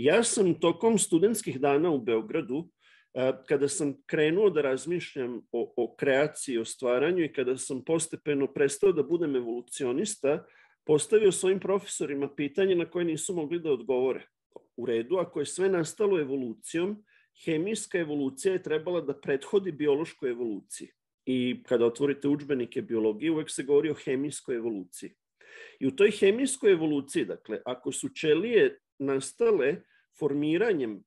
Ja sam tokom studentskih dana u Beogradu, kada sam krenuo da razmišljam o kreaciji, o stvaranju i kada sam postepeno prestao da budem evolucionista, postavio svojim profesorima pitanje na koje nisu mogli da odgovore. U redu, ako je sve nastalo evolucijom, hemijska evolucija je trebala da prethodi biološkoj evoluciji. I kada otvorite udžbenike biologije, uvek se govori o hemijskoj evoluciji. I u toj hemijskoj evoluciji, dakle, ako su ćelije nastale formiranjem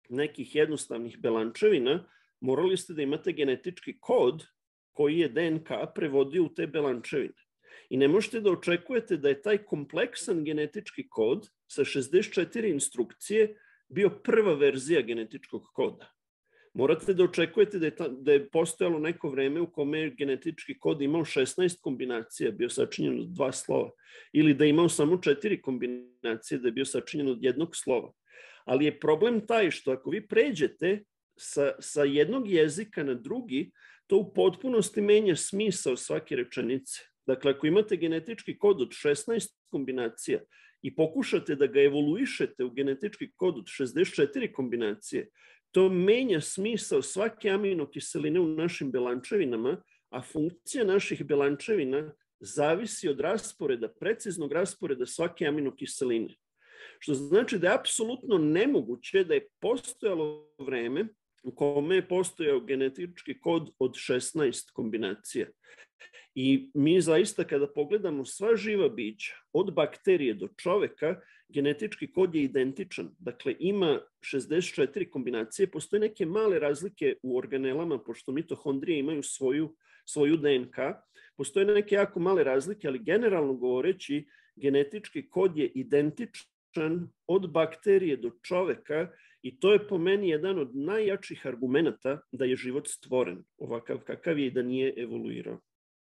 nekih jednostavnih belančevina, morali ste da imate genetički kod koji je DNK prevodio u te belančevine. I ne možete da očekujete da je taj kompleksan genetički kod sa 64 instrukcije bio prva verzija genetičkog koda. Morate da očekujete da je postojalo neko vreme u kome je genetički kod imao 16 kombinacija, bio sačinjen od 2 slova, ili da je imao samo 4 kombinacije, da je bio sačinjen od jednog slova. Ali je problem taj što ako vi pređete sa jednog jezika na drugi, to u potpunosti menja smisao svake rečenice. Dakle, ako imate genetički kod od 16 kombinacija i pokušate da ga evoluišete u genetički kod od 64 kombinacije, to menja smisao svake aminokiseline u našim belančevinama, a funkcija naših belančevina zavisi od rasporeda, preciznog rasporeda svake aminokiseline. Što znači da je apsolutno nemoguće da je postojalo vreme u kome je postojao genetički kod od 16 kombinacija. I mi zaista kada pogledamo sva živa bića, od bakterije do čoveka, genetički kod je identičan. Dakle, ima 64 kombinacije, postoje neke male razlike u organelama, pošto mitohondrije imaju svoju DNK, postoje neke jako male razlike, ali generalno govoreći, genetički kod je identičan od bakterije do čoveka i to je po meni jedan od najjačih argumenata da je život stvoren, ovakav kakav je i da nije evoluirao.